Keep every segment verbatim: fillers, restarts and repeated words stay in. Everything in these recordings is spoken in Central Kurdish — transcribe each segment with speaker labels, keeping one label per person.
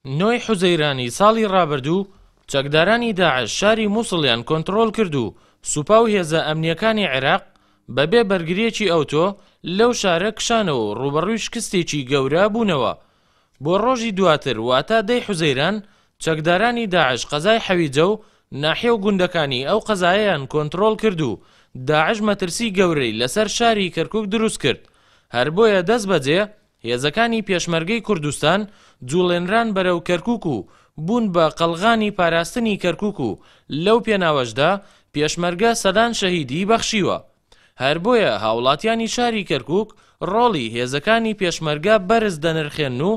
Speaker 1: نۆی حوزەیرانی ساڵی ڕابردوو چەکدارانی داعش شاری مووسڵیان کۆنترۆڵ کرد و سوپا و هێزە ئەمنییەکانی عێراق بەبێ بەرگرییەکی ئەوتۆ لەو شارە کشانەوە و ڕووبەڕووی شکستێکی گەورە بوونەوە. بۆ ڕۆژی دواتر واتە دەی حوزەیران چەکدارانی داعش قەزای حەویجە و ناحیە و گوندەکانی ئەو قەزایەیان کۆنترۆڵ کرد و داعش مەترسی گەورەی لەسەر شاری کەرکوک دروست کرد. هەر بۆیە دەست بەجێ هێزەکانی پێشمەرگەی کوردستان جوڵێنران بەرەو کەرکوک و بوون بە قەڵغانی پاراستنی کەرکوک و لەو پێناوەشدا پێشمەرگە سەدان شەهیدی بەخشیوە. هەر بۆیە هاوڵاتیانی شاری کەرکوک ڕۆڵی هێزەکانی پێشمەرگە بەرز دەنرخێن و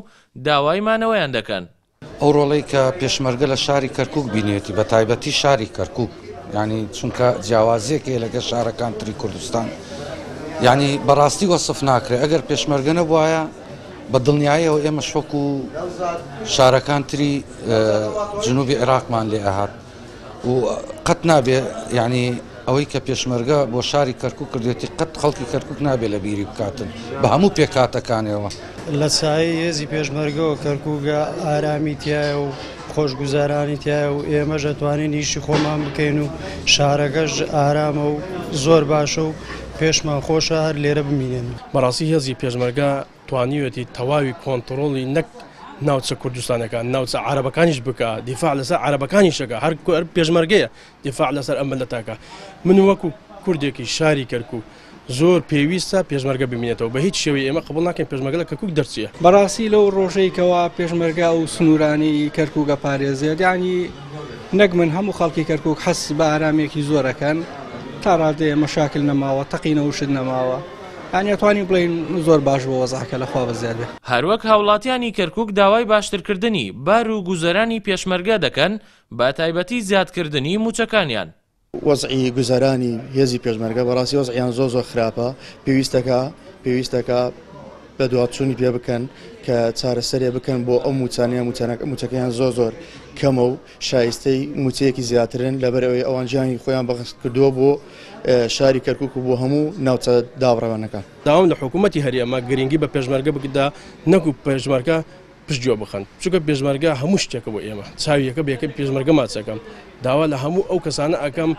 Speaker 1: داوای مانەوەیان دەکەن.
Speaker 2: ئەو ڕۆڵەی کە پێشمەرگە لە شاری کەرکوک بینێتی، بە تایبەتی شاری کەرکوک، یعنی چونکە جیاوازیەک هەیە لەگەڵ شارەکان تری کوردستان، یعنی بەڕاستی وەسف ناکرێت. ئەگەر پێشمەرگە نەبوایە بە دڵنیاییەوە ئێمە شۆک و شارەکان تری جنوبی عێراقمان لێ ئەهات و قەت نابێ، یعنی ئەوەی کە پێشمەرگە بۆ شاری کەرکوک کردێتی قەت خەڵکی کەرکوک نابێ لە بیری بکاتن بە هەموو پێکهاتەکانیەوە.
Speaker 3: لە سایەی هێزی پێشمەرگەوە کەرکوکە ئارامی تایە و خۆشگوزارانی تایە و ئێمەش ئەتوانین ئیشی خۆمان بکەین و شارەکەش ئارامە و زۆر باشە و پێشمان خۆشە هەر لێرە بمینێن.
Speaker 4: بەڕاستی هێزی پێشمەرگە توانیوێتی تەواوی کۆنتڕۆڵی نەک ناوچە کوردستانەکان، ناوچە عەرەبەکانیش بکە، دیفاع لەسەر عەرەبەکانیشەکە، هەر پێشمەرگەیە دیفاع لەسەر ئەم ملەتەکە. من وەکو کوردێکی شاری کەرکوک زۆر پێویستە پێشمەرگە بمینێتەوە، بە هیچ شێوەی ئێمە قبول ناکەین پێشمەرگە لە کەرکوک دەرچیە.
Speaker 5: بەڕاستی لەو ڕۆژەیەکەوە پێشمەرگە و سنوورانی کەرکوکە پارێزێت، یعنی نەک من هەموو خەڵکی کەرکوک حەس بە ئارامێکی زۆرەکەن، تا ڕادەیە مەشاکل نەماوە، تەقینەوە شت نەماوە، یعنی ئەتوانین بڵێین زۆر باش بۆ وەزعەکە لە خوا بەزیاد بێ.
Speaker 1: هەروەک هاوڵاتیانی کەرکوک داوای باشترکردنی بار و گوزەرانی پێشمەرگە دەکەن، بە تایبەتی زیادکردنی موچەکانیان.
Speaker 6: وەزعی گوزەرانی هێزی پێشمەرگە بەڕاستی وەزعیان زۆر زۆر خراپە، پێویستەکە پێویستەکە بە دواتچوونی پێ بکەن کە چارەسەرێ بکەن بۆ ئەو موچانەیە، موچەکەیان زۆر زۆر کەمە و شایستەی موچەیەکی زیاترن، لەبەرەوەی ئەوان ژیانی خۆیان بەخت کردووە بۆ شاری کەرکوک و بۆ هەموو ناوچە دابڕاوانەکان.
Speaker 4: داوام لە حکوومەتی هەرێمە گرنگی بە پێشمەرگە بکدا، نەکو پێشمەرگە پشتگوێ بخەن، چونکە پێشمەرگە هەموو شتێکە بۆ ئێمە، چاویەکە بێکە پێشمەرگە ماچەکەم. داوا لە هەموو ئەو کەسانە ئەەکەم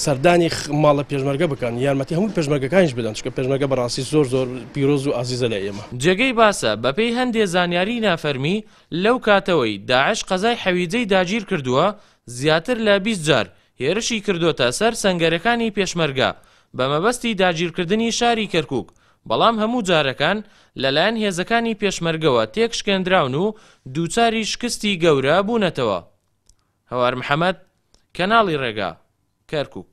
Speaker 4: سەردانی ماڵە پێشمەرگە بکەن، یارمەتی هەموو پێشمەرگەکانیش بدەن، چونکە پێشمەرگە بەڕاستی زۆر زۆر پیرۆز و ئازیزە لە ئێمە.
Speaker 1: جێگەی باسە بەپێی هەندێ زانیاری نافەرمی لەو کاتەوەی داعش قەزای حەویجەی داگیر کردووە زیاتر لە بیست جار هێرشی کردوۆتە سەر سەنگەرەکانی پێشمەرگە بە مەبەستی داگیرکردنی شاری کەرکوک، بەڵام هەموو جارەکان لەلایەن هێزەکانی پێشمەرگەوە تێکشکێنراون و دووچاری شکستی گەورە بوونەتەوە. هەوار محەممەد، کەناڵی ڕێگا، کەرکوک.